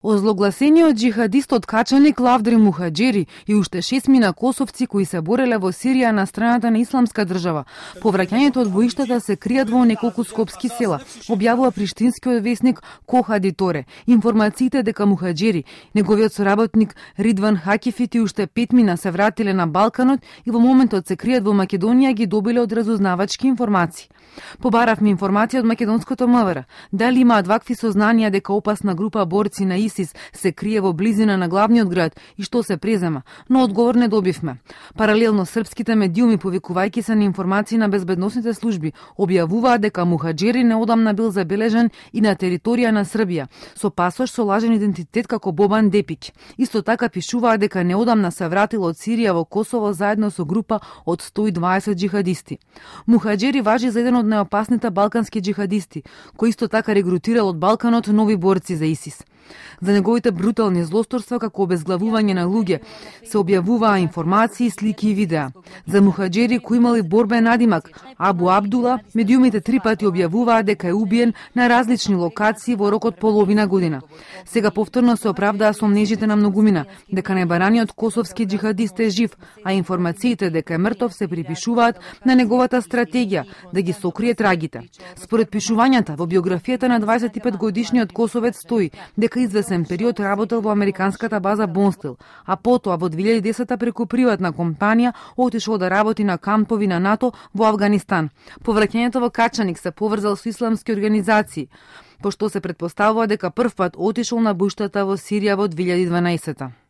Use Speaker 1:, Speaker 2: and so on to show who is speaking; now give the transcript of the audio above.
Speaker 1: Озлогласениот џихадистот качаник Лавдри Мухаџери и уште 6 мина косовци кои се бореле во Сирија на страната на Исламска држава. По враќањето од боиштата се кријат во неколку скопски села, објавува приштинскиот весник Кохади Торе. Информациите дека Мухаџери, неговиот соработник Ридван Хакифит и уште 5 мина се вратиле на Балканот и во моментот се кријат во Македонија ги добиле од разузнавачки информации. Побаравме информација од македонското МВР. Дали имаат вакви сознанија дека опасна група борци на ИСИС се крие во близина на главниот град и што се презема, но одговор не добивме. Паралелно српските медиуми, повикувајќи се на информации на безбедносните служби, објавуваат дека Мухаџери неодамна бил забележен и на територија на Србија со пасош со лажен идентитет како Бобан Депиќ. Исто така пишуваат дека неодамна се вратил од Сирија во Косово заедно со група од 120 џихадисти. Мухаџери важи за еден од најопасните балкански џихадисти, кој исто така регрутирал од Балканот нови борци за ИСИС. За неговите брутални злосторства како обезглавување на луѓе се објавуваа информации, слики и видеа. За Мухаџери, кој имал и борбен надимак Абу Абдула, медиумите 3 пати објавуваа дека е убиен на различни локации во рок од половина година. Сега повторно се оправдаа сомнежите на многумина дека најбараниот косовски џихадист е жив, а информациите дека е мртов се припишуваат на неговата стратегија да ги сокрие трагите. Според пишувањата во биографијата на 25-годишниот косовец стои дека извесен период работел во американската база Бонстил, а потоа во 2010 преку приватна компанија отишол да работи на кампови на НАТО во Авганистан. Повраќањето во Качаник се поврзал со исламски организации, пошто се претпоставува дека првпат отишол на буштата во Сирија во 2012.